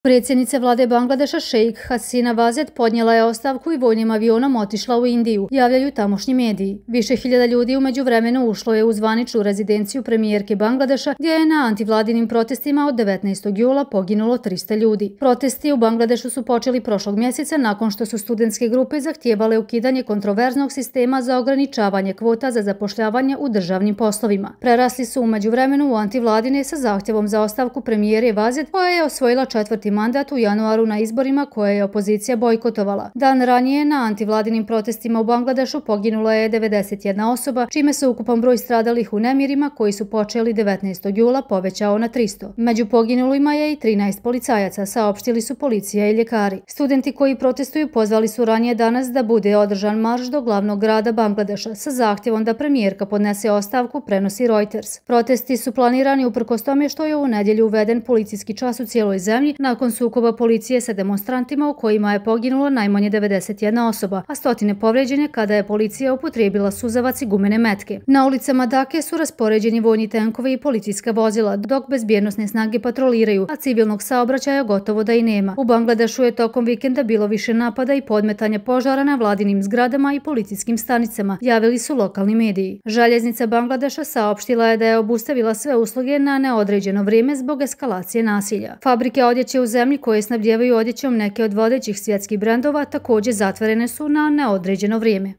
Predsjednica vlade Bangladeša Šejk Hasina Wazed podnijela je ostavku i vojnim avionom otišla u Indiju, javljaju tamošnji mediji. Više hiljada ljudi u međuvremenu ušlo je u zvaničnu rezidenciju premijerke Bangladeša, gdje je na antivladinim protestima od 19. jula poginulo 300 ljudi. Protesti u Bangladešu su počeli prošlog mjeseca nakon što su studentske grupe zahtijevale ukidanje kontroverznog sistema za ograničavanje kvota za zapošljavanje u državnim poslovima. Prerasli su u međuvremenu u antivladine sa zahtjevom za ostavku premijere Wazed, koja je osvojila četvrti mandat u januaru na izborima koje je opozicija bojkotovala. Dan ranije na antivladinim protestima u Bangladešu poginula je 91 osoba, čime se ukupan broj stradalih u nemirima koji su počeli 19. jula povećao na 300. Među poginulima je i 13 policajaca, saopštili su policija i ljekari. Studenti koji protestuju pozvali su ranije danas da bude održan marš do glavnog grada Bangladeša sa zahtjevom da premijerka podnese ostavku, prenosi Reuters. Protesti su planirani uprkos tome što je u nedjelju uveden policijski čas u cijeloj zemlji nakon sukoba policije sa demonstrantima u kojima je poginulo najmanje 91 osoba, a stotine povrijeđene kada je policija upotrijebila suzavac i gumene metke. Na ulicama Dake su raspoređeni vojni tenkovi i policijska vozila, dok bezbjednosne snage patroliraju, a civilnog saobraćaja gotovo da i nema. U Bangladešu je tokom vikenda bilo više napada i podmetanja požara na vladinim zgradama i policijskim stanicama, javili su lokalni mediji. Željeznica Bangladeša saopštila je da je obustavila sve usluge na neodređeno vrijeme zbog eskalacije nasilja. Fabrike odjeće u zemlji koje snabdijevaju odjećom neke od vodećih svjetskih brendova također zatvorene su na neodređeno vrijeme.